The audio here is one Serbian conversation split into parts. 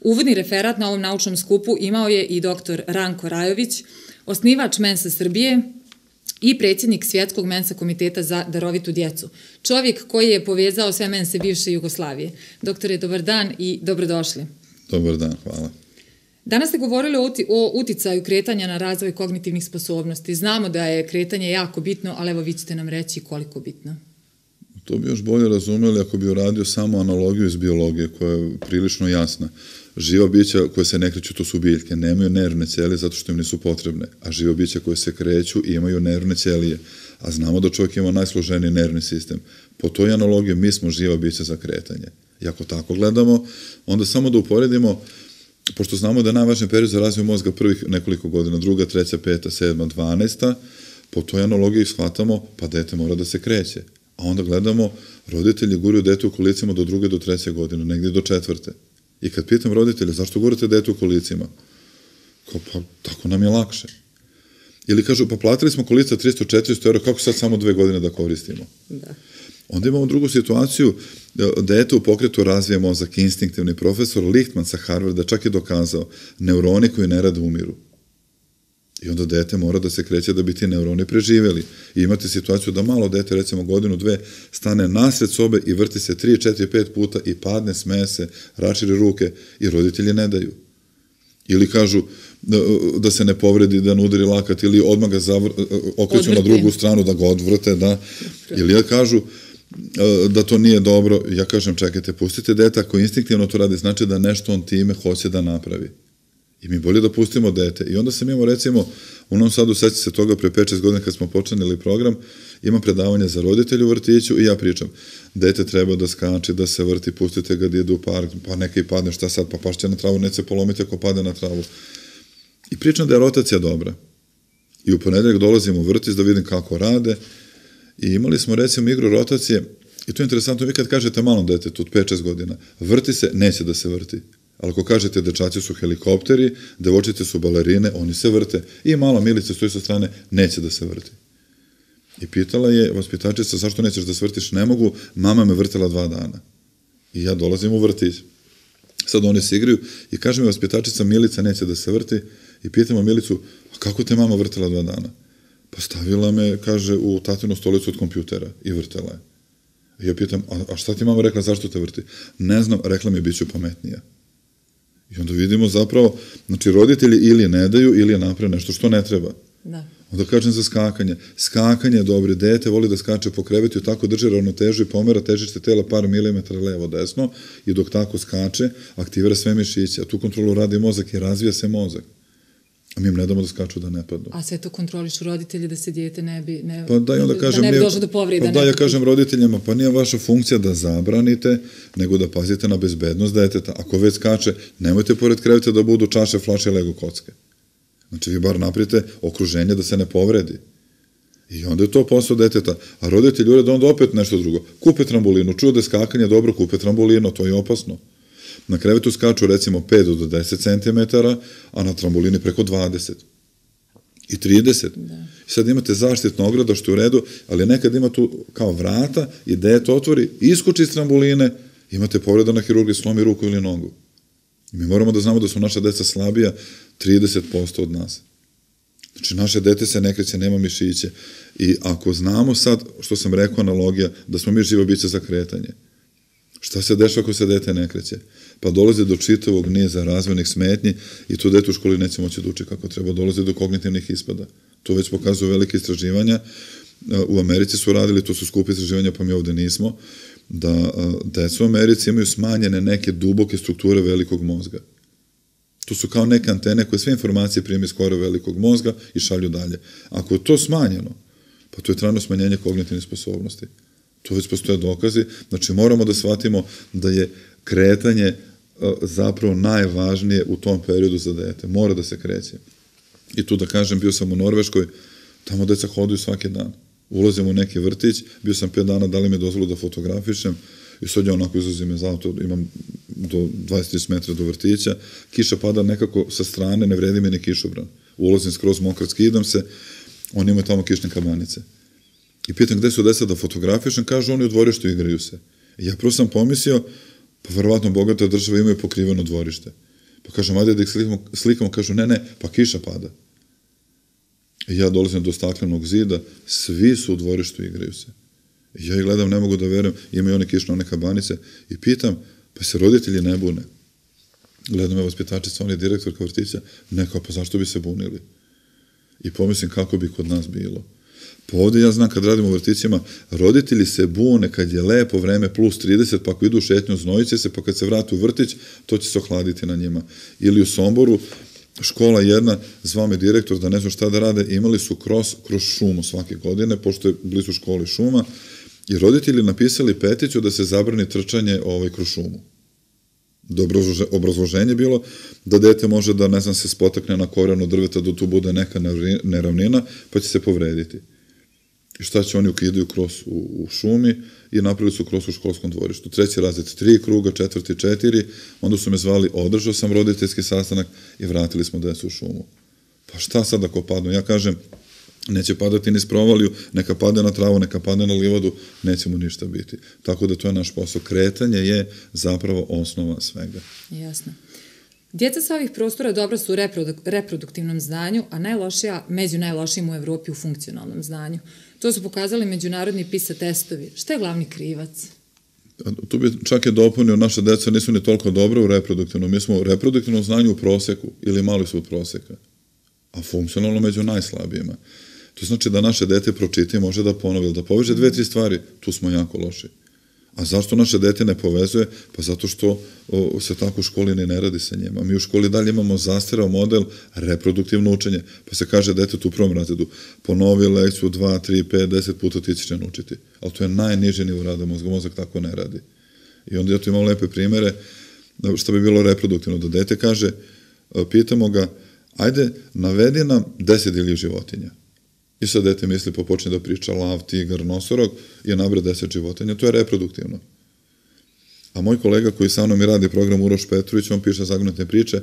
Uvodni referat na ovom naučnom skupu imao je i dr. Ranko Rajović, osnivač Mensa Srbije i predsjednik Svjetskog Mensa komiteta za darovitu djecu. Čovjek koji je povezao sve mense bivše Jugoslavije. Doktore, dobar dan i dobrodošli. Dobar dan, hvala. Danas ste govorili o uticaju kretanja na razvoj kognitivnih sposobnosti. Znamo da je kretanje jako bitno, ali evo vi ćete nam reći koliko bitno. To bi još bolje razumeli ako bi uradio samo analogiju iz biologije koja je prilično jasna. Živa bića koje se ne kreću, to su biljke, nemaju nervne ćelije zato što im nisu potrebne, a živa bića koje se kreću imaju nervne ćelije, a znamo da čovjek ima najsloženiji nervni sistem. Po toj analogiji mi smo živa bića za kretanje. I ako tako gledamo, onda samo da uporedimo, pošto znamo da je najvažniji period za razvoj mozga prvih nekoliko godina, 2., 3., 5., 7., 12., po toj analogiji shvatamo, pa dete mora da se kreće. A onda gledamo, roditelji guraju dete u kolicima do 2. do 3. godine, negdje do 4. I kad pitam roditelja, zašto gurate dete u kolicima? Kao, pa tako nam je lakše. Ili kažu, pa platili smo kolica 300-400 euro, kako sad samo 2 godine da koristimo? Da. Onda imamo drugu situaciju, dete u pokretu razvija mozak, instinktivni profesor Lichtman sa Harvarda čak je dokazao, neuroni koji ne rade umiru. I onda dete mora da se kreće da bi ti neuroni preživjeli. I imate situaciju da malo dete, recimo 1-2, stane nasred sobe i vrti se 3, 4, 5 puta i padne, smeje se, raširi ruke i roditelji ne daju. Ili kažu da se ne povredi, da ne udari lakat ili odmah ga okreću na drugu stranu da ga odvrte, da. Ili kažu da to nije dobro. Ja kažem, čekajte, pustite dete, ako instinktivno to radi, znači da nešto on time hoće da napravi. I mi bolje da pustimo dete. I onda sam imao, recimo, u Novom Sadu, seća se toga, pre 5-6 godina kad smo počinili program, imam predavanje za roditelje u vrtiću i ja pričam, dete treba da skače, da se vrti, pustite ga da ide u park, pa neka i padne, šta sad, pa pašće na travu, neće se polomiti ako padne na travu. I pričam da je rotacija dobra. I u ponedeljak dolazim u vrtić da vidim kako rade i imali smo, recimo, igru rotacije i to je interesantno, vi kad kažete malom detetu od 5-6 godina, vrti se, neće da se vrti. Ali ako kažete dečaci su helikopteri, devojčice su balerine, oni se vrte i mala Milica stoji sa strane, neće da se vrti. I pitala je vaspitačica, zašto nećeš da se vrtiš? Ne mogu, mama me vrtela 2 dana. I ja dolazim u vrtić. Sad oni se igraju i kaže mi vaspitačica, Milica neće da se vrti i pitamo Milicu, a kako te mama vrtela 2 dana? Pa stavila me, kaže, u tatinu stolicu od kompjutera i vrtela je. I ja pitam, a šta ti mama rekla, zašto te vrti? Ne znam, rekla mi, bit ću pametnija. I onda vidimo zapravo, znači roditelji ili ne daju ili naprave nešto što ne treba. Da. Onda kažem za skakanje. Skakanje je dobro, dete voli da skače po krevetu i tako drži ravnotežu i pomera težište tela par milimetara levo-desno i dok tako skače, aktivira sve mišiće, a tu kontrolu radi mozak i razvija se mozak. A mi im ne damo da skaču da ne padnu. A sve to kontrolišu roditelji da se dijete ne bi došlo do povrede. Pa da, ja kažem roditeljima, pa nije vaša funkcija da zabranite, nego da pazite na bezbednost deteta. Ako već skače, nemojte pored kreveta da budu čaše, flaše, lego kocke. Znači, vi bar napravite okruženje da se ne povredi. I onda je to posao deteta. A roditelji urede onda opet nešto drugo. Kupe trambolinu, čuo da je skakanje dobro, kupe trambolinu, to je opasno. Na krevetu skaču recimo 5 do 10 cm, a na trambolini preko 20 i 30. Da. I sad imate zaštitno ograda što je u redu, ali nekad ima tu kao vrata i dete otvori, iskoči iz tramboline, imate povreda na hirurgiji, slomi ruku ili nogu. I mi moramo da znamo da su naša deca slabija 30% od nas. Znači, naše dete se ne kreće, nema mišiće. I ako znamo sad, što sam rekao, analogija, da smo mi živa bića za kretanje, šta se dešava ako se dete ne kreće? Pa dolazi do čitavog niza razvojnih smetnji i tu dete u školi neće moći da uči kako treba. Dolazi do kognitivnih ispada. To već pokazuju velike istraživanja. U Americi su radili, to su skupe istraživanja, pa mi ovde nismo, da deca u Americi imaju smanjene neke duboke strukture velikog mozga. To su kao neke antene koje sve informacije prime iz kore velikog mozga i šalju dalje. Ako je to smanjeno, pa to je trajno smanjenje kognitivnih sposobnosti. To već postoje dokazi. Znači, moramo da shvatimo da je kretanje zapravo najvažnije u tom periodu za dete. Mora da se kreće. I tu da kažem, bio sam u Norveškoj, tamo deca hoduju svaki dan. Ulazim u neki vrtić, bio sam 5 dana, dali mi dozvolu da fotografišem i sad ja onako izlazim iz auto, imam do 20-30 metra do vrtića, kiša pada nekako sa strane, ne vredi mi ni kišobran. Ulazim skroz mokar, skidam se, oni imaju tamo kišne kabanice. I pitam gde su deca da fotografišem, kažu oni u dvorištu igraju se. I ja prvo sam pomislio, pa verovatno bogata država imaju pokriveno dvorište. Pa kažem, ajde da ih slikamo, kažu, ne, pa kiša pada. I ja dolazim do staklenog zida, svi su u dvorištu, igraju se. I ja ih gledam, ne mogu da verujem, imaju one kišne, one kabanice, i pitam, pa se roditelji ne bune. Gledam je vaspitačica, on je direktorka vrtića, pa zašto bi se bunili? I pomislim kako bi kod nas bilo. Pa ovde ja znam kad radimo u vrtićima, roditelji se bune kad je lepo vreme plus 30, pa ako idu u šetnju znojiće se, pa kad se vrate u vrtić, to će se ohladiti na njima. Ili u Somboru, škola jedna, zvao me direktor da ne znam šta da rade, imali su kroz šumu svake godine, pošto je blizu škole šuma, i roditelji napisali peticiju da se zabrani trčanje kroz šumu. Obrazloženje bilo da dete može da, ne znam, se spotakne na korenu drveta, da tu bude neka neravnina, pa će se povrediti. I šta će oni ukidaju kroz u šumi i napravili su kroz u školskom dvorištu. 3. razred 3 kruga, 4. 4, onda su me zvali, održao sam roditeljski sastanak i vratili smo decu u šumu. Pa šta sad ako padnu? Ja kažem, neće padati niz provaliju, neka pade na travu, neka pade na livadu, neće mu ništa biti. Tako da to je naš posao. Kretanje je zapravo osnova svega. Jasno. Djeca sa ovih prostora dobra su u reproduktivnom znanju, a najlošija, među najlošijim u Evropi u funkcionalnom znanju. To su pokazali međunarodni PISA testovi. Šta je glavni krivac? Tu bi čak je dopunio, naša deca nisu ni toliko dobra u reproduktivnom. Mi smo u reproduktivnom znanju u proseku ili mali su od proseka, a funkcionalno među najslabijima. To znači da naše dete pročiti, može da ponovi, da poveže 2-3 stvari, tu smo jako loši. A zašto naše dete ne povezuje? Pa zato što se tako u školi ne radi sa njima. Mi u školi dalje imamo zastareo model reproduktivno učenje. Pa se kaže detetu u prvom razredu, ponovi lekciju 2, 3, 5, 10 puta ti ćeš naučiti. Ali to je najniži nivo rada mozga. Mozak tako ne radi. I onda ja tu imam lepe primere što bi bilo reproduktivno. Da dete kaže, pitamo ga, ajde, navedi nam 10 divljih životinja. I sad dete misli, pa počne da priča lav, tigar, nosorog i nabre 10 životinja. To je reproduktivno. A moj kolega koji sa mnom i radi program Uroš Petrović, on piše zagonetne priče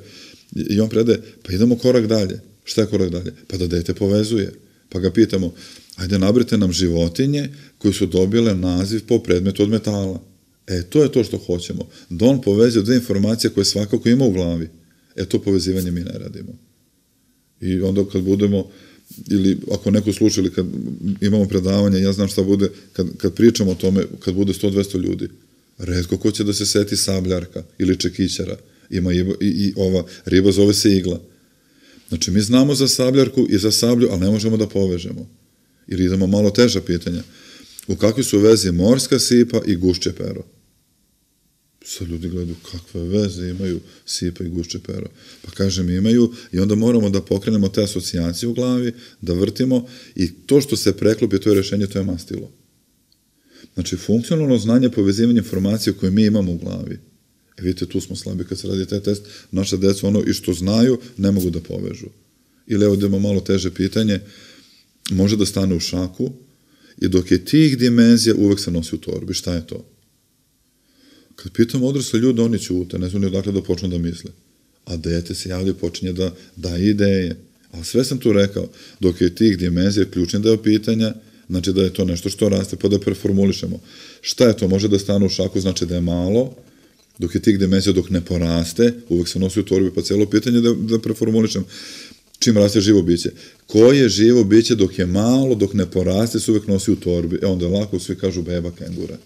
i on predaje, pa idemo korak dalje. Šta je korak dalje? Pa da dete povezuje. Pa ga pitamo, ajde nabrite nam životinje koje su dobile naziv po predmetu od metala. To je to što hoćemo. Da on povezuje 2 informacije koje svakako ima u glavi. To povezivanje mi ne radimo. I onda kad budemo ili ako neko sluša ili kad imamo predavanje, ja znam šta bude, kad pričamo o tome, kad bude 100-200 ljudi, retko ko će da se seti sabljarka ili čekićara, ima i ova riba zove se igla. Znači, mi znamo za sabljarku i za sablju, ali ne možemo da povežemo. Ili idemo malo teža pitanja. U kakvi su vezi morska sipa i gušće pero? Sad ljudi gledaju kakve veze imaju sipa i gušće pero. Pa kažem imaju i onda moramo da pokrenemo te asocijacije u glavi, da vrtimo i to što se preklopi, to je rešenje, to je mastilo. Znači, funkcionalno znanje, povezivanje informacije koje mi imamo u glavi. Vidite, tu smo slabi kad se radi taj test. Naša deca ono i što znaju ne mogu da povežu. Ili evo da ima malo teže pitanje, može da stane u šaku i dok je tih dimenzija uvek se nosi u torbi. Šta je to? Kad pitamo odrasle ljude, oni ćute, ne znam ni odakle da počnu da misle. A dete se javlja i počinje da daje ideje. Ali sve sam tu rekao, dok je tih dimenzija ključni deo pitanja, znači da je to nešto što raste, pa da preformulišemo. Šta je to? Može da stane u šaku, znači da je malo, dok je tih dimenzija, dok ne poraste, uvek se nosi u torbi, pa cijelo pitanje da preformulišem. Čim raste živo biće? Koje živo biće dok je malo, dok ne poraste, se uvek nosi u torbi? Onda lako svi kažu beba kengura.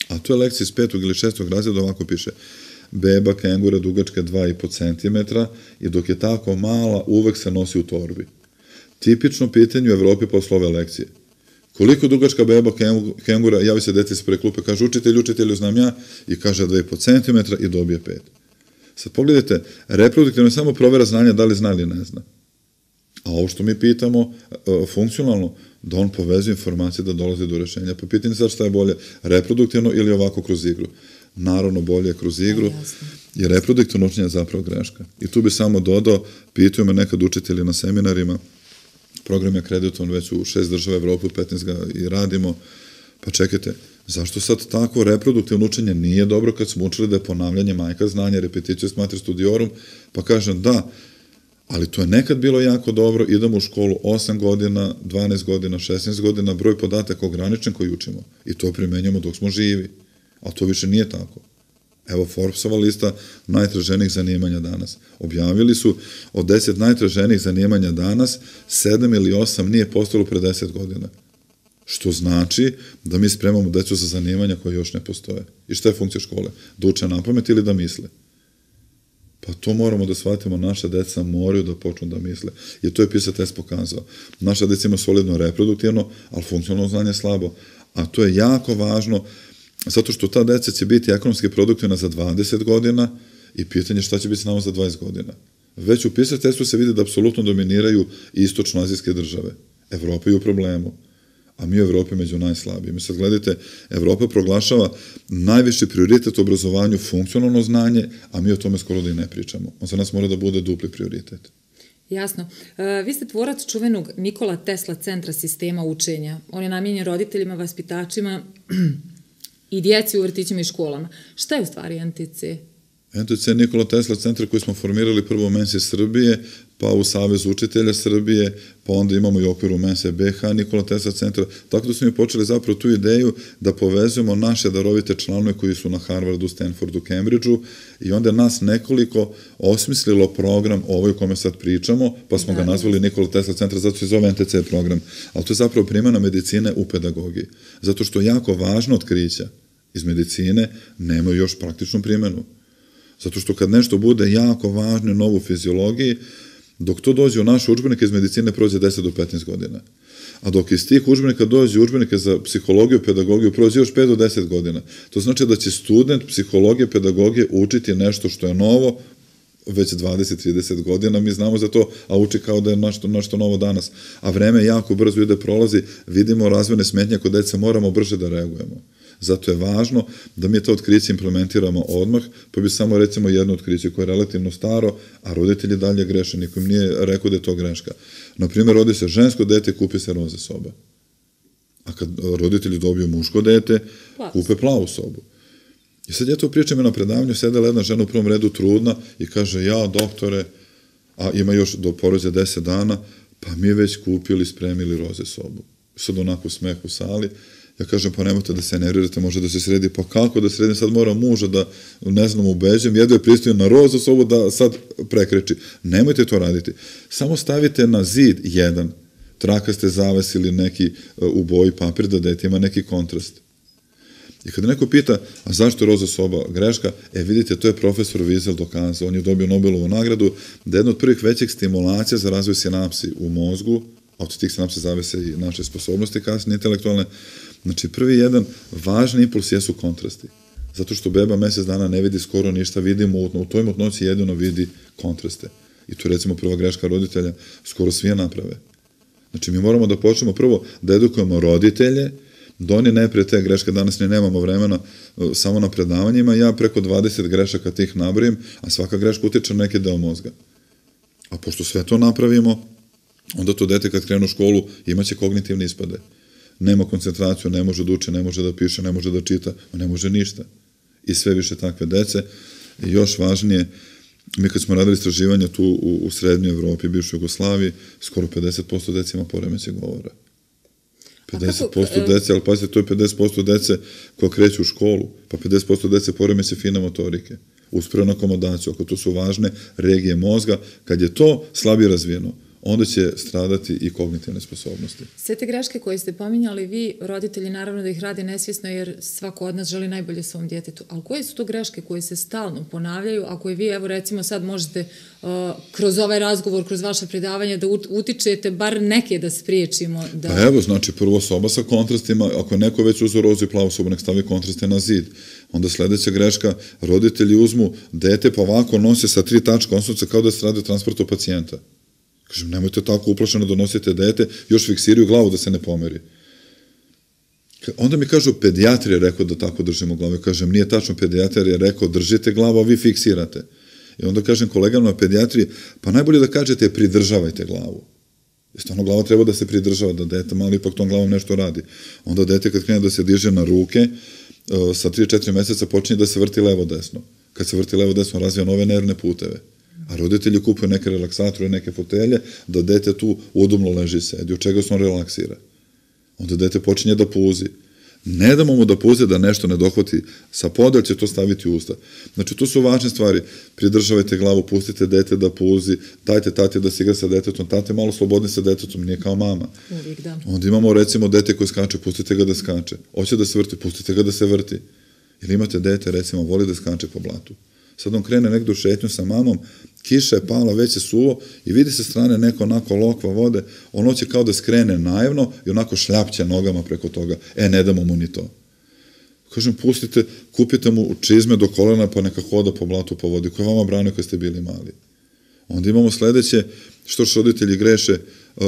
A to je lekcija iz 5. ili 6. razreda, ovako piše. Beba kengura dugačka 2,5 cm i dok je tako mala, uvek se nosi u torbi. Tipično pitanje u Evropi posle ove lekcije. Koliko dugačka beba kengura, javi se dete ispred klupe, kaže učitelju znam ja, i kaže 2,5 cm i dobije 5. Sad pogledajte, reproduktivno je samo provera znanja da li zna ili ne zna. A ovo što mi pitamo, funkcionalno, da on povezuje informacije da dolazi do rešenja. Pa pitanje sad šta je bolje, reproduktivno ili ovako kroz igru. Naravno, bolje kroz igru, jer reproduktivno učenje je zapravo greška. I tu bi samo dodao, pitaju me nekad učitelji na seminarima, program je akreditovan već u 6 država Evrope, u 15 ga i radimo, pa čekajte, zašto sad tako reproduktivno učenje nije dobro kad smo učili da je ponavljanje majka znanja, repetitio est mater studiorum, pa kažem da, ali to je nekad bilo jako dobro, idemo u školu 8 godina, 12 godina, 16 godina, broj podataka ograničen koji učimo i to primenjamo dok smo živi, ali to više nije tako. Evo Forbesova lista najtraženijih zanimanja danas. Objavili su od 10 najtraženijih zanimanja danas, 7 ili 8 nije postalo pre 10 godina. Što znači da mi spremamo decu za zanimanja koje još ne postoje. I šta je funkcija škole? Da uče napamet ili da misle? Pa to moramo da shvatimo, naša deca moraju da počnu da misle. I to je PISA test pokazao. Naša deca ima solidno reproduktivno, ali funkcionalno znanje slabo. A to je jako važno, zato što ta deca će biti ekonomski produktivna za 20 godina i pitanje šta će biti s nama za 20 godina. Već u PISA testu se vidi da apsolutno dominiraju istočno-azijske države. Evropa je u problemu, a mi u Evropi među najslabijim. I sad gledajte, Evropa proglašava najviši prioritet u obrazovanju funkcionalno znanje, a mi o tome skoro da i ne pričamo. On za nas mora da bude dupli prioritet. Jasno. Vi ste tvorac čuvenog Nikola Tesla centra sistema učenja. On je namijenjen roditeljima, vaspitačima i djeci u vrtićima i školama. Šta je u stvari NTC? NTC je Nikola Tesla centar koji smo formirali prvo u Mensi Srbije, pa u Savezu učitelja Srbije, pa onda imamo i u okviru Mense BH Nikola Tesla centra. Tako da smo mi počeli zapravo tu ideju da povezujemo naše darovite članove koji su na Harvardu, Stanfordu, Cambridgeu i onda nas nekoliko osmislilo program ovaj o kome sad pričamo, pa smo ga nazvali Nikola Tesla centar, zato se zove NTC program. Ali to je zapravo primjena medicine u pedagogiji. Zato što jako važno otkrića iz medicine nemaju još praktičnu primjenu. Zato što kad nešto bude jako važno novo u fiziologiji, dok to dođe u naše udžbenike iz medicine prođe 10 do 15 godina. A dok iz tih udžbenika dođe udžbenike za psihologiju, pedagogiju, prođe još 5 do 10 godina. To znači da će student psihologije, pedagogije učiti nešto što je novo već 20-30 godina, mi znamo za to, a uči kao da je nešto novo danas. A vreme jako brzo ide, prolazi, vidimo razvojne smetnje kod dece, moramo brže da reagujemo. Zato je važno da mi to otkriće implementiramo odmah, pa bi samo recimo jedno otkriće koje je relativno staro, a roditelji dalje greše, nikom nije rekao da je to greška. Naprimjer, rodi se žensko dete, kupi se roze soba. A kad roditelji dobiju muško dete, kupe plavu sobu. I sad ja to pričam na predavanju, sedela jedna žena u prvom redu trudna i kaže, ja doktore, a ima još do porođaja 10 dana, pa mi već kupili, spremili roze sobu. Sad onako smeh u sali. Ja kažem, pa nemojte da se nervirate, može da se sredi, pa kako da sredim, sad moram muža da, ne znam, ubeđem, jedno je pristoji na rozu sobu da sad prekreči. Nemojte to raditi. Samo stavite na zid jedan, trakaste zaves ili neki u boji papir da dete ima neki kontrast. I kada neko pita, a zašto je roza soba greška, vidite, to je profesor Wiesel dokazao, on je dobio Nobelovu nagradu, da je jedna od prvih većih stimulacija za razvoj sinapsi u mozgu, a od tih sinapsi zavise i naše sposobnosti kasnije intelektualne. Znači, prvi jedan važni impuls jesu kontrasti. Zato što beba mesec dana ne vidi skoro ništa, vidi mutno, u toj mutnoći jedino vidi kontraste. I to je recimo prva greška roditelja, skoro svi je naprave. Znači, mi moramo da počnemo prvo da edukujemo roditelje, da oni ne prije te greške, danas ne nemamo vremena samo na predavanjima, ja preko 20 grešaka tih nabrojim, a svaka greška utiče na neki deo mozga. A pošto sve to napravimo, onda to dete kad krenu u školu imaće kognitivne ispade. Nema koncentraciju, ne može da uče, ne može da piše, ne može da čita, ne može ništa. I sve više takve dece. I još važnije, mi kad smo radili istraživanja tu u Srednjoj Evropi, bivšoj Jugoslaviji, skoro 50% dece ima poremećaj govora. 50% dece, ali pazite, to je 50% dece koja kreću u školu, pa 50% dece poremećaj fine motorike. Uspravnu akomodaciju, ako to su važne regije mozga, kad je to slabije razvijeno, onda će stradati i kognitivne sposobnosti. Sve te greške koje ste pominjali, vi, roditelji, naravno da ih rade nesvjesno, jer svako od nas želi najbolje svom djetetu. Ali koje su to greške koje se stalno ponavljaju, a koje vi, evo recimo sad možete kroz ovaj razgovor, kroz vaše predavanje da utičete, bar neke da spriječimo? Da... Pa evo, znači prvo soba sa kontrastima, ako je neko već uzeo rozu i plavu sobu, nek stavi kontraste na zid. Onda sledeća greška, roditelji uzmu dete pa ovako nose sa 3 tačka osnovca kao da se radi o transportu pacijenta. Kažem, nemojte tako uplašeno da nosite dete, još fiksiraju glavu da se ne pomeri. Onda mi kažu, pedijatar je rekao da tako držimo glavu. Kažem, nije tačno, pedijatar je rekao, držite glavu, a vi fiksirate. I onda kažem kolegama na pedijatriji, pa najbolje da kažete, pridržavajte glavu. Jer stvarno glava treba da se pridržava, da dete malo ipak tom glavom nešto radi. Onda dete kad krene da se diže na ruke, sa 3-4 meseca počinje da se vrti levo-desno. Kad se vrti levo-desno, razvija nove nervne puteve. A roditelji kupuju neke relaksatore, neke fotelje, da dete tu udobno leži i sedi, od čega se on relaksira. Onda dete počinje da puzi. Ne damo mu da puze da nešto ne dohvati sa poda, će to staviti u usta. Znači, to su važne stvari. Pridržavajte glavu, pustite dete da puzi, dajte tati da se igra sa detetom, tate malo slobodni sa detetom, nije kao mama. Uvijek, da. Onda imamo, recimo, dete koje skače, pustite ga da skače. Hoće da se vrti, pustite ga da se vrti. Ili imate dete, recimo, voli da skače po blatu. Sad on krene negdje u šetnju sa mamom, kiša je pala, već je suvo i vidi se strane neko onako lokva vode, on hoće kao da skrene naivno i onako šljapće nogama preko toga. Ne damo mu ni to. Kažem, pustite, kupite mu čizme do kolena pa neka hoda po blatu po vodi, koja vama brane kad ste bili mali. Onda imamo sledeće, što roditelji greše,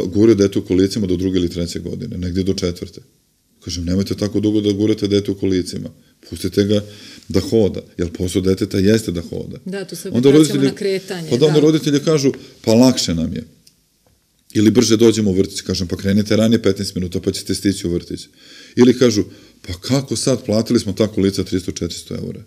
gure dete u kolicima do 2. ili 3. godine, negdje do 4. Kažem, nemojte tako dugo da gurate dete u kolicima. Pustite ga da hoda, jer posao deteta jeste da hoda. Da, tu se vraćamo na kretanje. Pa da onda roditelji kažu, pa lakše nam je. Ili brže dođemo u vrtić, kažem, pa krenite ranije 15 minuta, pa ćete stići u vrtić. Ili kažu, pa kako sad, platili smo ta kolica 300-400 eura.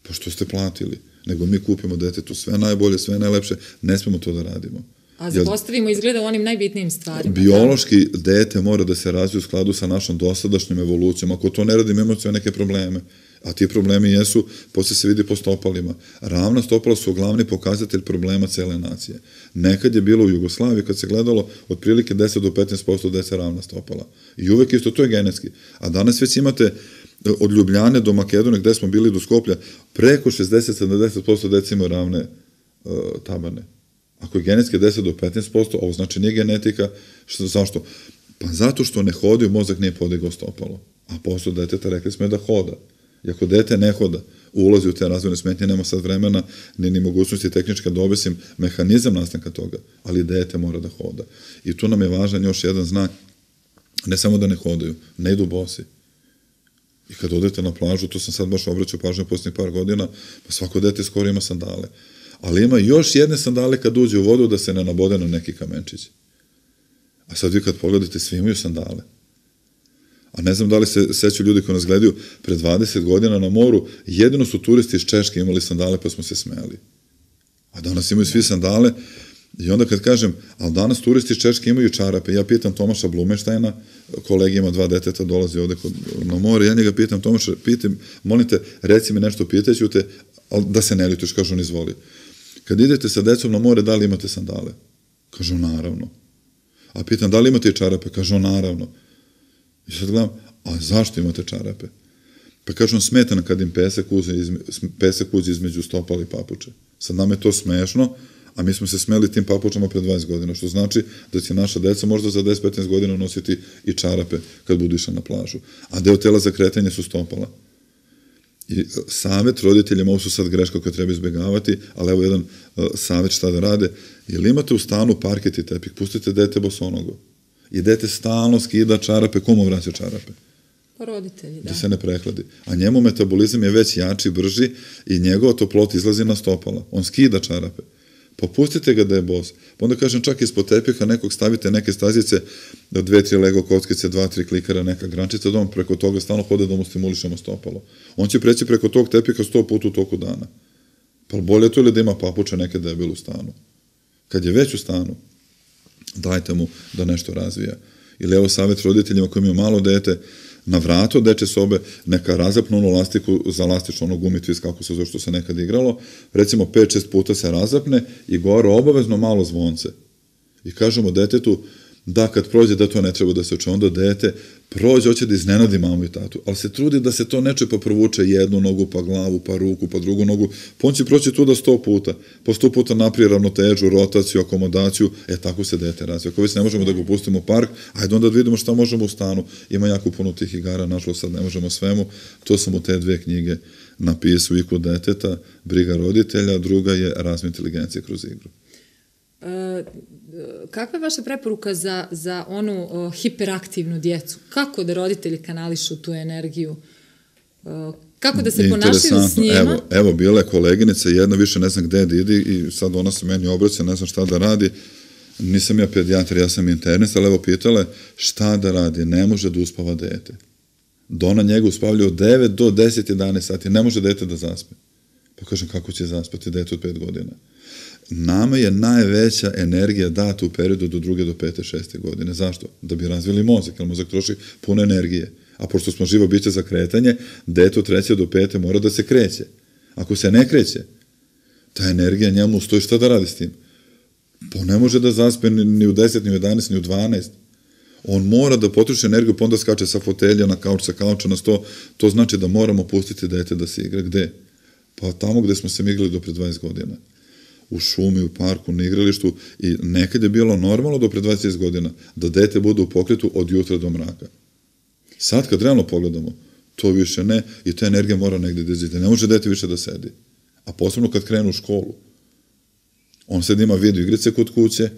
Pa što ste platili? Nego mi kupimo detetu sve najbolje, sve najlepše, ne smemo to da radimo. A zapostavimo izgleda u onim najbitnijim stvarima. Biološki dete mora da se razvije u skladu sa našom dosadašnjom evolucijom. Ako to ne radimo, imamo sve neke probleme. A ti problemi jesu, posle se vidi po stopalima. Ravna stopala su glavni pokazatelj problema cele nacije. Nekad je bilo u Jugoslaviji, kad se gledalo, otprilike 10 do 15% dece ravna stopala. I uvek isto, to je genetski. A danas već imate od Ljubljane do Makedonije, gde smo bili do Skoplja, preko 60-70% dece imaju ravne tabane. Ako je genetski 10 do 15%, ovo znači nije genetika, zašto? Pa zato što ne hodaju, mozak nije podigao stopalo. A posao deteta rekli smo je da hoda. I ako dete ne hoda, ulazi u te razvojne smetnje, nema sad vremena, ni mogućnosti tehnička da obesim mehanizam nastanka toga, ali dete mora da hoda. I tu nam je važan još jedan znak, ne samo da ne hodaju, ne idu bosi. I kad odete na plažu, to sam sad baš obraćao pažnju posljednjih par godina, pa svako dete skoro ima sandale. Ali ima još jedne sandale kad uđe u vodu da se ne nabode na neki kamenčić. A sad vi kad pogledate, svi imaju sandale. A ne znam da li se sećaju ljudi koji nas gledaju, pred 20 godina na moru, jedino su turisti iz Češke imali sandale pa smo se smejali. A danas imaju svi sandale i onda kad kažem, ali danas turisti iz Češke imaju čarape, ja pitam Tomaša Blumeštajna, kolegi ima 2 deteta, dolazi ovde na more, ja njega pitam, Tomaša, molim te, reci mi nešto, pitaću te, ali da se ne ljutiš, kažu on izvoli. Kad idete sa decom na more, da li imate sandale? Kažu, naravno. A pitam, da li imate i čarape? Kažu, naravno. I sad gledam, a zašto imate čarape? Pa kažu, smeta nam kad im pesak uđe između stopala i papuče. Sad nam je to smešno, a mi smo se smeli tim papučama pred 20 godina, što znači da će naša deca možda za 10-15 godina nositi i čarape kad budu išli na plažu. A deo tela za kretanje su stopala. I savjet roditeljima, ovo su sad greška koje treba izbjegavati, ali evo jedan savjet šta da rade, ili imate u stanu parket i tepih, pustite dete bosonogo. I dete stalno skida čarape, komu vraća čarape? Roditelji, da. Da se ne prehladi. A njemu metabolizam je već jači, brži i njegova toplota izlazi na stopala. On skida čarape. Pa pustite ga da je bos. Pa onda kažem, čak ispod tepiha nekog stavite neke stazice, 2-3 lego kockice, 2-3 klikera, neka grančica, da on preko toga stalno hode da mu stimulišemo stopalo. On će preći preko tog tepiha 100 puta u toku dana. Pa bolje to ili da ima papuče neke debele u stanu. Kad je već u stanu, dajte mu da nešto razvija. Ili evo savjet roditeljima koji imaju malo dete, na vratu deče sobe neka razapnu onu lastiku za lastično ono gumitvis, kako se zove što se nekad igralo, recimo 5-6 puta se razapne i gore obavezno malo zvonce. I kažemo detetu da kad prođe da to ne treba da se uče, onda dete prođe, hoće da iznenadi mamu i tatu, ali se trudi da se to neče pa provuče jednu nogu, pa glavu, pa ruku, pa drugu nogu, pa on će proći tu da 100 puta, po 100 puta naprije ravnotežu, rotaciju, akomodaciju, tako se dete razvija. Ako već ne možemo da ga pustimo u park, ajde onda da vidimo šta možemo u stanu. Ima jako puno tih igara, nažalost sad ne možemo svemu, to sam u te 2 knjige napisao, IQ deteta, briga roditelja, druga je razvoj inteligencije kroz igru. Kakva je vaša preporuka za onu hiperaktivnu djecu? Kako da roditelji kanališu tu energiju? Kako da se ponašaju s njima? Evo, bila je koleginica, jedna više ne znam gde da ide i sad ona se meni obraća, ne znam šta da radi. Nisam ja pedijatar, ja sam internist, ali evo pitala šta da radi, ne može da uspava dete. Da ona njega uspavlja od 9 do 10-11 sati, ne može dete da zaspe. Pa kažem, kako će zaspati dete od 5 godina? Nama je najveća energija data u periodu do 2. do 5. 6. godine. Zašto? Da bi razvili mozak, jer mozak troši puno energije. A pošto smo živo biće za kretanje, dete od 3. do 5. mora da se kreće. Ako se ne kreće, ta energija njemu stoji, šta da radi s tim? Pa ne može da zaspe ni u 10, ni u 11, ni u 12. On mora da potroši energiju, pa onda skače sa fotelja na kauč, sa kauča na sto. To znači da moramo pustiti dete da se igra. Gde? Pa tamo gde smo se mi igrali do pre 20 godina. U šumi, u parku, na igralištu. I nekad je bilo normalno do pre 20 godina da dete bude u pokretu od jutra do mraka. Sad kad realno pogledamo, to više ne, i ta energija mora negde da izide. Ne može dete više da sedi. A posebno kad krenu u školu. On sad ima video igrice kod kuće,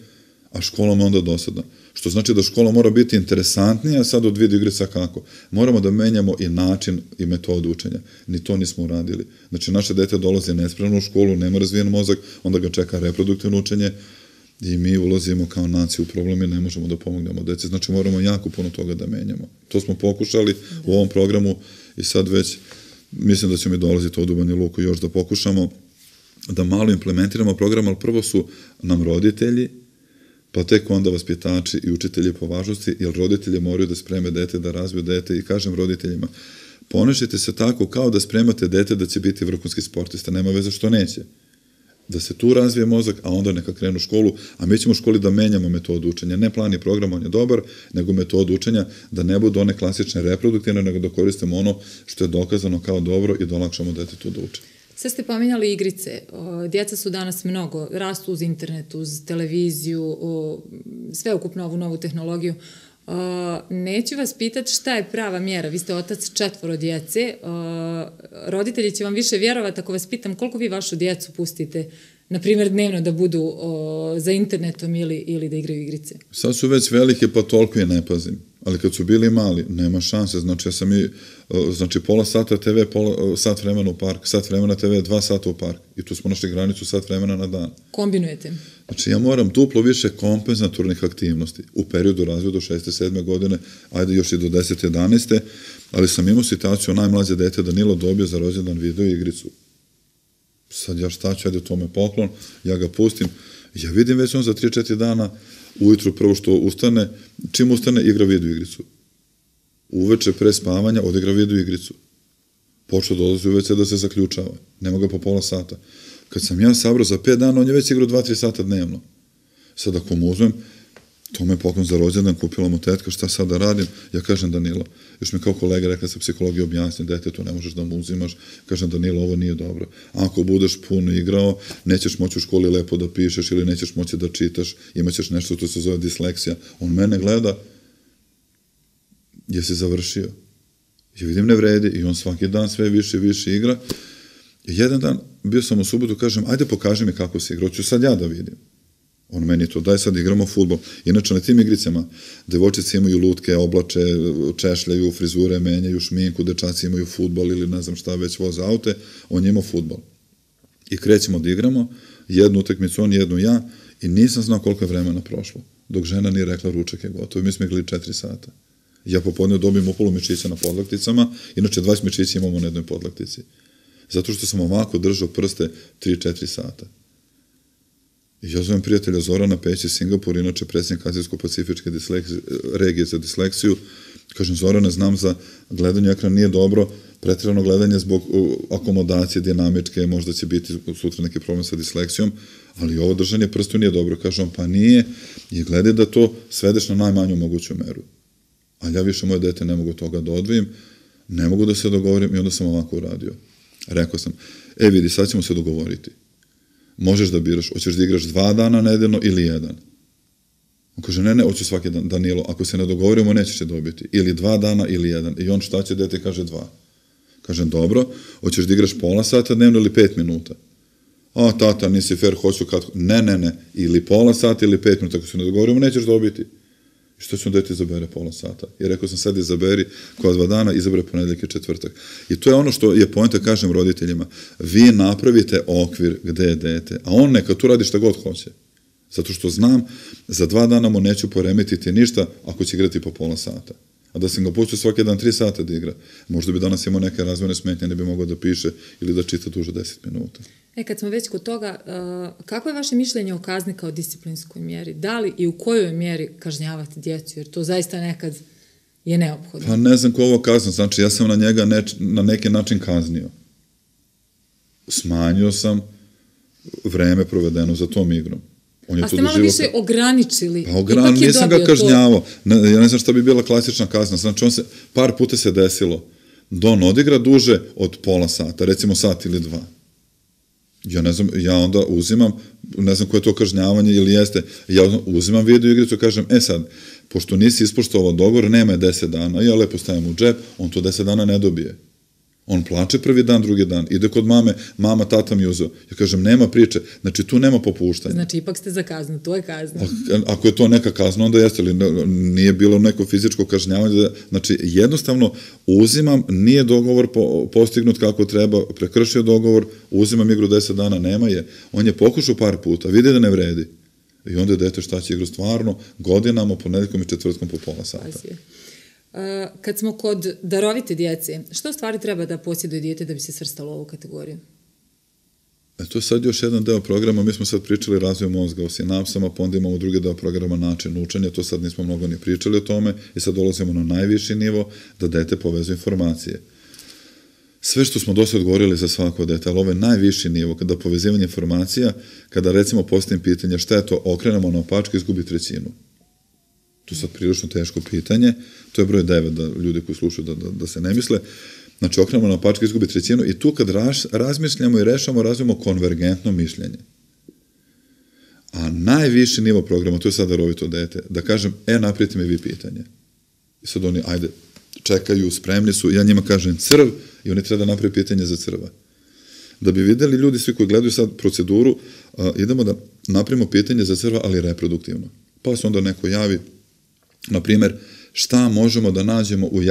a škola mu je onda dosadna. Što znači da škola mora biti interesantnija sad od video igrica kako. Moramo da menjamo i način i metodu učenja. Ni to nismo uradili. Znači, naše dete dolazi nespremno u školu, nema razvijen mozak, onda ga čeka reproduktivno učenje i mi ulazimo kao nacija u problem i ne možemo da pomognemo deci. Znači, moramo jako puno toga da menjamo. To smo pokušali u ovom programu i sad već mislim da će mi dolaziti od u Banja Luku još da pokušamo da malo implementiramo program, ali prvo su nam roditelji, pa tek onda vaspitači i učitelji po važnosti, jer roditelji moraju da spreme dete, da razviju dete i kažem roditeljima, ponašajte se tako kao da spremate dete da će biti vrhunski sportista, nema veze što neće. Da se tu razvije mozak, a onda neka krenu u školu, a mi ćemo u školi da menjamo metodu učenja. Ne plan i program, on je dobar, nego metodu učenja, da ne budu one klasične reproduktivne, nego da koristimo ono što je dokazano kao dobro i da olakšamo detetu da uče. Sad ste pominjali igrice. Djeca su danas mnogo, rastu uz internet, uz televiziju, sveukupno ovu novu tehnologiju. Neću vas pitati šta je prava mjera. Vi ste otac 4 djece. Roditelji će vam više vjerovati ako vas pitam koliko vi vašu djecu pustite, na primjer dnevno da budu za internetom ili da igraju igrice. Sad su već velike, pa toliko je ne pazim. Ali kad su bili mali, nema šanse. Znači, ja sam pola sata TV, sat vremena u park, sat vremena TV, 2 sata u park. I tu smo našli granicu sat vremena na dan. Kombinujete? Znači, ja moram duplo više kompenzatornih aktivnosti u periodu razvoja do 6. 7. godine, ajde još i do 10. 11. Ali sam imao situaciju, najmlađe dete Danilo dobio za rođendan video igricu. Sad ja šta ću, ajde to me poklon, ja ga pustim. Ja vidim već on za 3-4 dana ujutru prvo što ustane, čim ustane igra video igricu. Uveče pre spavanja odigra video igricu. Počeo dolazi uveče da se zaključava. Nema ga po pola sata. Kad sam ja sabrao za 5 dana, on je već igrao 2-3 sata dnevno. Sad ako mu uzmem, to me poklon za rođendan, kupila mu tetka, šta sad da radim? Ja kažem Danilo, još mi kao kolega rekla sa psihologije objasni, dete, to ne možeš da mu uzimaš, kažem Danilo, ovo nije dobro. Ako budeš puno igrao, nećeš moći u školi lepo da pišeš ili nećeš moći da čitaš, imaćeš nešto što se zove disleksija. On mene gleda, jesi završio? Ja vidim ne vredi i on svaki dan sve više i više igra. I jedan dan, bio sam u subotu, kažem, ajde pokaži mi kako se igra, hoću sad ja da vidim. On meni to, daj sad igramo fudbal. Inače, na tim igricama, devojčice imaju lutke, oblače, češljaju, frizure, menjaju šminku, dečaci imaju fudbal ili ne znam šta već voze aute, on je imao fudbal. I krećemo da igramo, jednu utakmicu on, jednu ja, i nisam znao koliko je vremena prošlo, dok žena nije rekla ručak je gotovo. Mi smo igrali 4 sata. Ja popodne dobijem upolu mišića na podlakticama, inače 20 mišića imamo na jednoj podlaktici. Zato što sam ovako držao prste 3-4 sata. I ja zovem prijatelja Zorana Peći, Singapur, inače predsjednik Azijsko-pacifičke regije za disleksiju. Kažem, Zorane, znam za gledanje ekrana nije dobro, pretjerano gledanje zbog akomodacije dinamičke, možda će biti sutra neki problem sa disleksijom, ali ovo držanje prstu nije dobro. Kažem, pa nije, i gledaj da to svedeš na najmanju moguću meru. Ali ja više moje dete ne mogu toga da odvojim, ne mogu da se dogovorim i onda sam ovako uradio. Rekao sam, vidi, sad ćemo se dogovoriti. Možeš da biraš, hoćeš da igraš 2 dana nedeljno ili 1. On kaže, ne, hoću svaki dan, Danilo, ako se ne dogovorimo, nećeš je dobiti. Ili 2 dana ili 1. I on šta će, dete kaže 2. Kažem, dobro, hoćeš da igraš pola sata dnevno ili 5 minuta. A, tata, nisi fair, hoću kad... Ne, ili pola sata ili 5 minuta, ako se ne dogovorimo, nećeš dobiti. I što ćemo dete izabere pola sata? I rekao sam, sad izaberi koja 2 dana, izabere ponedeljak i četvrtak. I to je ono što je poenta, kažem roditeljima. Vi napravite okvir gde je dete, a on neka tu radi šta god hoće. Zato što znam, za 2 dana mu neću poremetiti ništa ako će igrati po pola sata. A da sam ga pustio svaki dan 3 sata da igra, možda bi danas imao neke razvojne smetnje, ne bi mogao da piše ili da čita duže 10 minuta. Kad smo već kod toga, kako je vaše mišljenje o kazni kao disciplinskoj mjeri? Da li i u kojoj mjeri kažnjavate djecu? Jer to zaista nekad je neophodno? Pa ne znam ko ovo kazno, znači ja sam na njega na neki način kaznio. Smanjio sam vreme provedeno za tom igrom. A ste malo više ograničili. Pa nisam ga kažnjavao. Ja ne znam šta bi bila klasična kazna. Znači, par puta se desilo da on odigra duže od pola sata, recimo sat ili dva. Ja ne znam, ja onda uzimam, ne znam koje je to kažnjavanje ili jeste, ja uzimam video igricu i kažem, sad, pošto nisi ispoštovao dogovor, nema je 10 dana, ja lepo stavim u džep, on to 10 dana ne dobije. On plače prvi dan, drugi dan, ide kod mame, mama, tata mi uzeo. Ja kažem, nema priče, znači tu nema popuštanja. Znači, ipak ste za kaznu, to je kazna. Ako je to neka kazna, onda jeste, ali nije bilo neko fizičko kažnjavanje. Znači, jednostavno uzimam, nije dogovor postignut kako treba, prekršio dogovor, uzimam igru 10 dana, nema je. On je pokušao par puta, vidi da ne vredi. I onda je dete šta će igru stvarno, godinama, ponedeljkom i četvrtkom po pola sata. Kad smo kod darovite djece, što stvari treba da posjeduje dijete da bi se svrstalo u ovu kategoriju? To je sad još jedan deo programa, mi smo sad pričali razvoj mozga o sinapsama, pa onda imamo drugi deo programa način učenja, to sad nismo mnogo ni pričali o tome i sad dolazimo na najviši nivo da dete povezuje informacije. Sve što smo do sad govorili za svako dete, ali ovo je najviši nivo, kada povezivanje informacija, kada recimo postavim pitanje šta je to, okrenemo na opačke, izgubi trećinu. To je sad prilično teško pitanje, to je broj 9 da ljudi koji slušaju da se ne misle. Znači, okrenemo na opačke, izgubi trećinu i tu kad razmišljamo i rešamo, razvijemo konvergentno mišljenje. A najviši nivo programa, to je sad darovito dete, da kažem, napravite mi vi pitanje. I sad oni, ajde, čekaju, spremni su, ja njima kažem crv i oni treba da napravi pitanje za crva. Da bi videli ljudi, svi koji gledaju sad proceduru, idemo da napravimo pitanje za crva, ali reproduktivno. Pa se onda neko javi, na primjer, šta možemo da nađemo u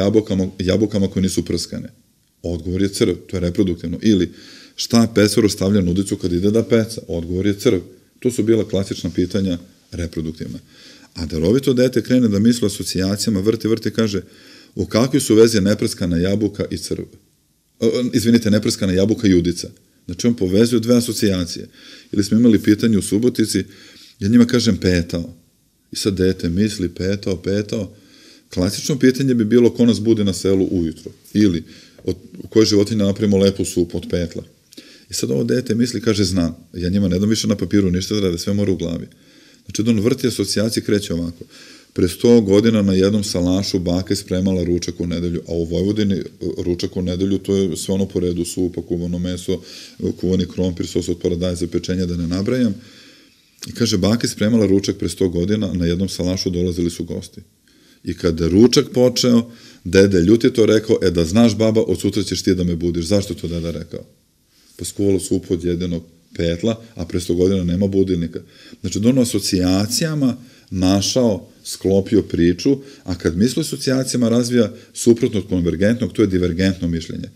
jabukama koje nisu prskane? Odgovor je crv, to je reproduktivno. Ili šta pesaro stavlja na udicu kad ide da peca? Odgovor je crv. To su bila klasična pitanja reproduktivna. A darovito dete krene da misli asocijacijama, vrti, kaže u kakvoj su vezi neprskana jabuka i crv? Izvinite, neprskana jabuka i udica. Znači on povezuje dve asocijacije. Ili smo imali pitanje u Subotici, ja njima kažem petao. I sad dete misli petao. Klasično pitanje bi bilo ko nas bude na selu ujutro. Ili od koje životinje napravimo lepu supu od petla. I sad ovo dete misli, kaže znam. Ja njima ne dam više na papiru ništa da rade, sve mora u glavi. Znači da on vrti asocijacije, kreće ovako. Pre 100 godina na jednom salašu baka je spremala ručak u nedelju, a u Vojvodini ručak u nedelju to je sve ono po redu, supa, kuvano meso, kuvani krompir, sos od paradajza, pečenja, da ne nabrajam. I kaže, baka je spremala ručak pre 100 godina, na jednom salašu dolazili su gosti. I kada je ručak počeo, dede ljut je to rekao, da znaš baba, od sutra ćeš ti da me budiš. Zašto to deda rekao? Pa skuvalo supu od jedenog petla, a pre 100 godina nema budilnika. Znači, da ono asocijacijama našao, sklopio priču, a kad misli asocijacijama razvija suprotno od konvergentnog, to je divergentno mišljenje.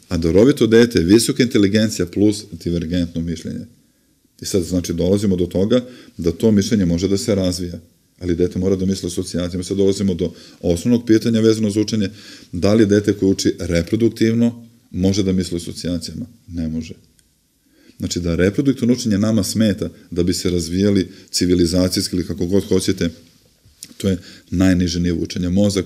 A darovito dete je visoka inteligencija plus divergentno mišljenje. I sad, znači, dolazimo do toga da to mišljenje može da se razvija, ali dete mora da misli asocijacijama. Sad dolazimo do osnovnog pitanja vezano za učenje, da li dete koje uči reproduktivno može da misli asocijacijama? Ne može. Znači, da reproduktivno učenje nama smeta da bi se razvijali civilizacijski ili kako god hoćete, to je najniže nivo učenja. Mozak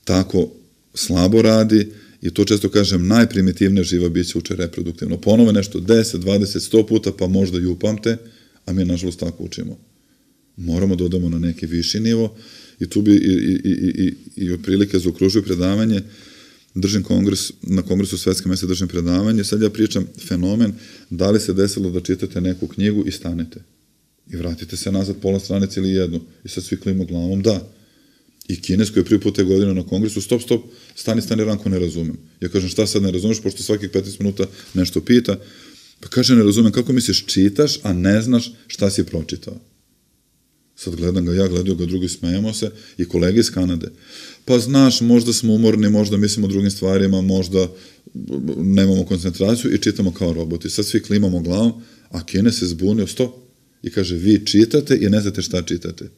tako slabo radi i to često kažem, najprimitivnije živa bića uče reproduktivno. Ponove nešto 10, 20, 100 puta, pa možda i upamte, a mi nažalost tako učimo. Moramo da odemo na neki viši nivo i tu bi i otprilike zaokružuju predavanje, držim na kongresu Svetske mese držim predavanje, sad ja pričam fenomen, da li se desilo da čitate neku knjigu i stanete i vratite se nazad pola stranice ili jednu i sad svi klimo glavom, da. I Kines koji je prvi put te godine na kongresu, stop, stani, Ranko, ne razumem. Ja kažem, šta sad ne razumeš, pošto svakih 15 minuta nešto pita, pa kaže, ne razumem, kako misliš, čitaš, a ne znaš šta si pročitao. Sad gledam ga, ja gledaju ga, drugi smejemo se i kolege iz Kanade. Pa znaš, možda smo umorni, možda mislimo o drugim stvarima, možda nemamo koncentraciju i čitamo kao roboti. Sad svi klimamo glavom, a Kines se zbunio, stop, i kaže, vi čitate i ne znate šta čitate.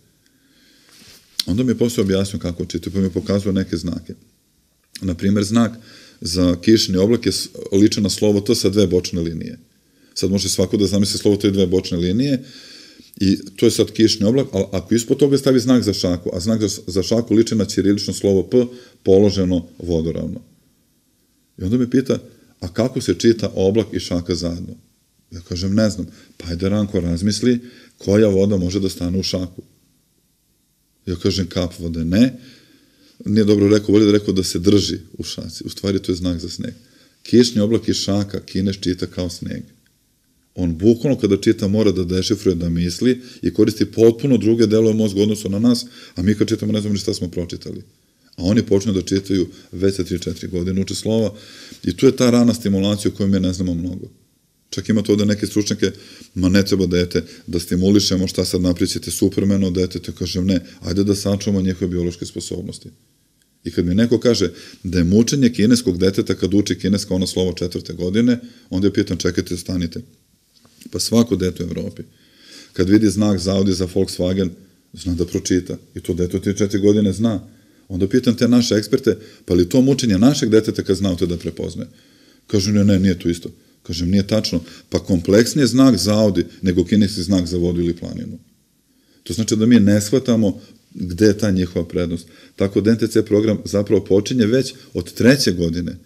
Onda mi je posle objasnio kako čitaju, pa mi je pokazao neke znake. Naprimjer, znak za kišni oblak je liče na slovo T sa dve bočne linije. Sad može svako da zamisli slovo T i dve bočne linije I to je sad kišni oblak, ali ako ispod toga stavi znak za šaku, a znak za šaku liči na ćirilično slovo P, položeno vodoravno. I onda me pita, a kako se čita oblak i šaka zajedno? Ja kažem, ne znam. Pa ajde, Ranko, razmisli koja voda može da stane u šaku. Ja kažem, kap vode, ne. Nije dobro rekao, bolje da rekao da se drži u šaci. U stvari to je znak za sneg. Kišni oblak i šaka Kinez čita kao sneg. On bukvalno kada čita mora da dešifruje, da misli i koristi potpuno druge delove mozga u odnosu na nas, a mi kad čitamo ne znamo ni šta smo pročitali. A oni počnu da čitaju već sa 3-4 godine, uče slova i tu je ta rana stimulacija o kojoj mi ne znamo mnogo. Čak imate ovde neke stručnjake, ma ne treba dete da stimulišemo, šta sad napričite Supermanu, detete, kažem ne, ajde da sačuvamo njihove biološke sposobnosti. I kad mi neko kaže da je mučenje kineskog deteta kad uči kineska ono slovo 4. godine, onda ja pitam, čekajte, stanite. Pa svako dete u Evropi, kad vidi znak za Audi, za Volkswagen, zna da pročita. I to dete od 4 godine zna. Onda pitam te naše eksperte, pa li to mučenje našeg deteta kad znate da prepoznaje? Kažu, ne, nije to isto. Kažem, nije tačno. Pa kompleksnije znak za Audi nego kineski znak za vodu ili planinu. To znači da mi ne shvatamo gde je ta njihova prednost. Tako da NTC program zapravo počinje već od 3. godine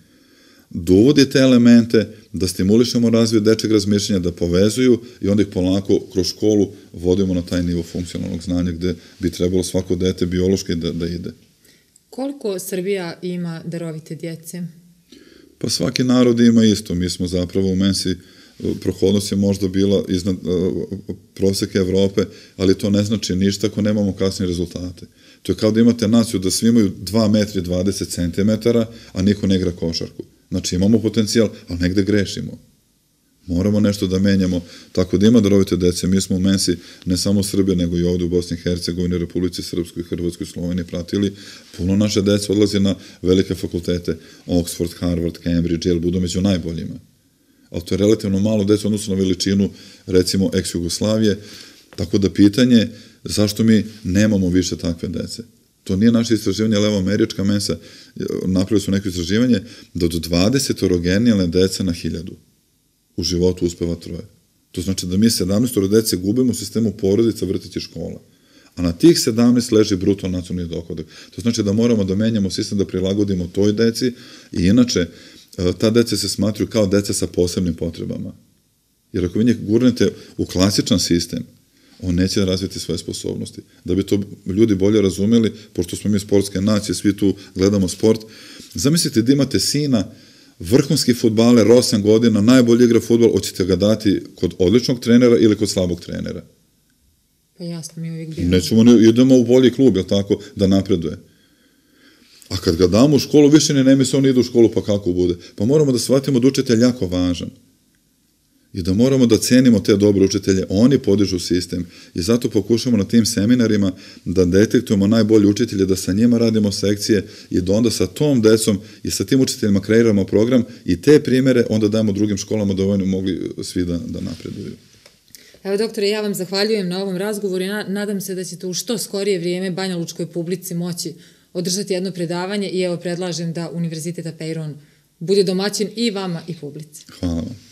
da uvodi te elemente, da stimulišemo razvoj dečeg razmišljanja, da povezuju i onda ih polako kroz školu vodimo na taj nivo funkcionalnog znanja gde bi trebalo svako dete biološki da ide. Koliko Srbija ima darovite djece? Pa svaki narod ima isto. Mi smo zapravo u Mensi, prohodnost je možda bila iznad proseka Evrope, ali to ne znači ništa ako nemamo kasnije rezultate. To je kao da imate naciju da svi imaju 2 metra i 20 centimetara, a niko ne igra košarku. Znači imamo potencijal, ali negde grešimo. Moramo nešto da menjamo, tako da ima darovite dece. Mi smo u Mensi, ne samo u Srbiji, nego i ovde u Bosni i Hercegovini, Republici Srpskoj, Hrvatskoj, Sloveniji pratili. Puno naše dece odlazi na velike fakultete, Oxford, Harvard, Cambridge, jer budu među najboljima. Ali to je relativno malo dece odnosno na veličinu, recimo, ex-Jugoslavije. Tako da pitanje, zašto mi nemamo više takve dece? To nije naše istraživanje, ali evo američka Mensa, napravili su neko istraživanje da od 20 genijalne dece na 1000 u životu uspeva 3. To znači da mi 17 dece gubimo u sistemu porodica, vrtića i škola. A na tih 17 leži bruto nacionalni dohodak. To znači da moramo da menjamo sistem, da prilagodimo toj deci i inače ta deca se smatruju kao deca sa posebnim potrebama. Jer ako vi njih gurnete u klasičan sistem, on neće razviti svoje sposobnosti. Da bi to ljudi bolje razumeli, pošto smo mi sportske nacije, svi tu gledamo sport, zamislite da imate sina, vrhunski fudbaler, 8 godina, najbolji igra fudbal, hoćete ga dati kod odličnog trenera ili kod slabog trenera? Pa jasno, mi uvijek bilo. Nećemo, idemo u bolji klub, jel tako, da napreduje. A kad ga damo u školu, više ne misle, on ide u školu, pa kako bude? Pa moramo da shvatimo da učitelj jako važan. I da moramo da cenimo te dobre učitelje, oni podižu sistem i zato pokušamo na tim seminarima da detektujemo najbolje učitelje, da sa njima radimo sekcije i da onda sa tom decom i sa tim učiteljima kreiramo program i te primere onda dajemo drugim školama da oni mogli svi da napreduju. Evo, doktore, ja vam zahvaljujem na ovom razgovoru i nadam se da ćete u što skorije vrijeme banjalučkoj publici moći održati jedno predavanje i evo predlažem da Univerzitet Apeiron bude domaćin i vama i publici. Hvala vam.